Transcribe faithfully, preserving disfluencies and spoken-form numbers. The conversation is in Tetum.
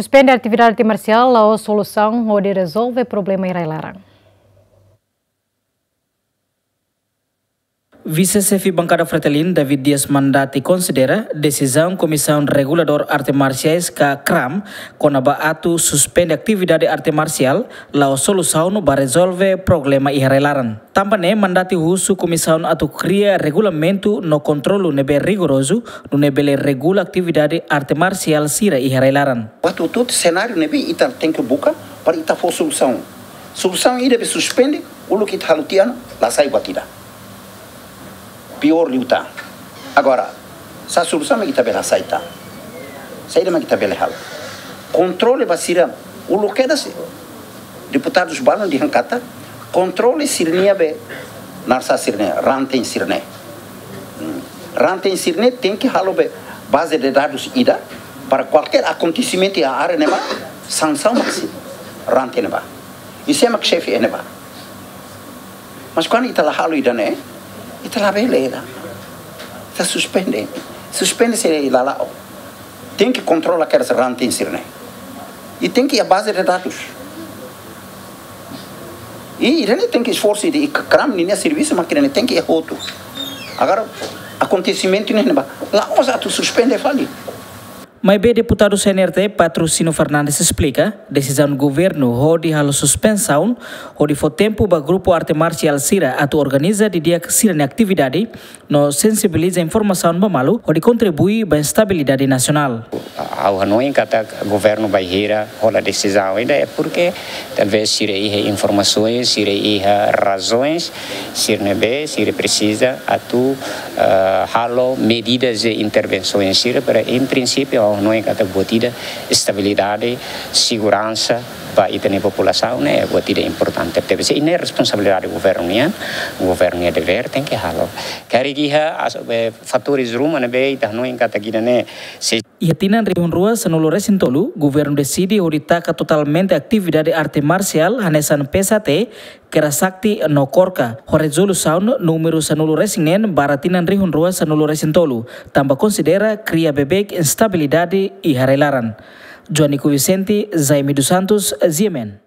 Suspende atividade arte marsiál la'ós solusaun hodi rezolve problema iha rai-laran. Vise-Xefe Bankada Fretilin, David Dias Mandati, konsidera desizaun Komisaun Reguladór Arte Marsiais ka KRAM kona-ba atu suspende atividade arte marsiál la'ós solusaun ba rezolve problema iha rai-laran. Tanba ne'e Mandati husu komisaun atu kria regulamentu no kontrolu ne'ebé rigorozu, nune'e bele regula atividade arte marsiál sira iha rai-laran. Waktu hotu senáriu ne'ebé ita tenke buka para ita fó solusaun. Solusaun ida be suspende, uluk ita halo tiha ona, la sai buat ida. Piór liután. Agora, sá solusaun mak ita bele hasai tan? Saida mak ita bele halo? Kontrole ba sira, uluk kedas, deputadus balun dehan katak, kontrole sira-nia be, naran sá sira-ne'e, ranten sira-ne'e. Hmm. Ranten sira-ne'e tenke halo be baze de dadus ida, para kualkér akontesimentu iha área ne'ebá, sansaun mak sei ranten ne'ebá. I sé mak xefe iha ne'ebá. Mas kuandu ita la halo ida-ne'e, ita labele ida. Ita suspende. Suspende sei la la'o. Tenke kontrola kedas ranten sira-ne'e. I tenke iha baze de dadus. I ida-ne'e tenke esforsu de KRAM ninia servisu, mak ida-ne'e tenke iha hotu. Agora, akontesimentu ne'e ne'ebá, la'ós atu suspende fali. Maibé deputadu C N R T, Patrocínio Fernandes, esplika desizaun governu hodi halo suspensaun, hodi fó tempu ba grupu arte marsiál sira atu organiza didi'ak sira-nia atividade, no sensibiliza informasaun ba malu, hodi kontribui ba estabilidade nasionál. Ha'u hanoin katak governu bainhira hola desizaun ida ne'e porque talvés sira iha informasoens, sira iha razoens, sira ne'ebé, sira presiza atu, eh, halo medidas de intervensoens sira para, em princípio, ha'u hanoin katak buat ida estabilidade, seguransa ba ita-nia populasaun ne'e buat ida importante. Tebes ne'e responsabilidade governu nian, governu nia devér tenke halo. Karik iha as-, eh, fatores ruma ne'ebé ita hanoin katak ida-ne'e sei Iha tinan rihun rua sanulu resin tolu, governu deside hodi taka totalmente atividade arte marsiál hanesan P S A T, Kera Sakti no KORKA, ho rezolusaun númeru sanulu resin neen barra tinan rihun rua sanulu resin tolu, tanba konsidera kria beibeik instabilidade iha rai-laran. Joanico Vicente, Jaime dos Santos, G M N.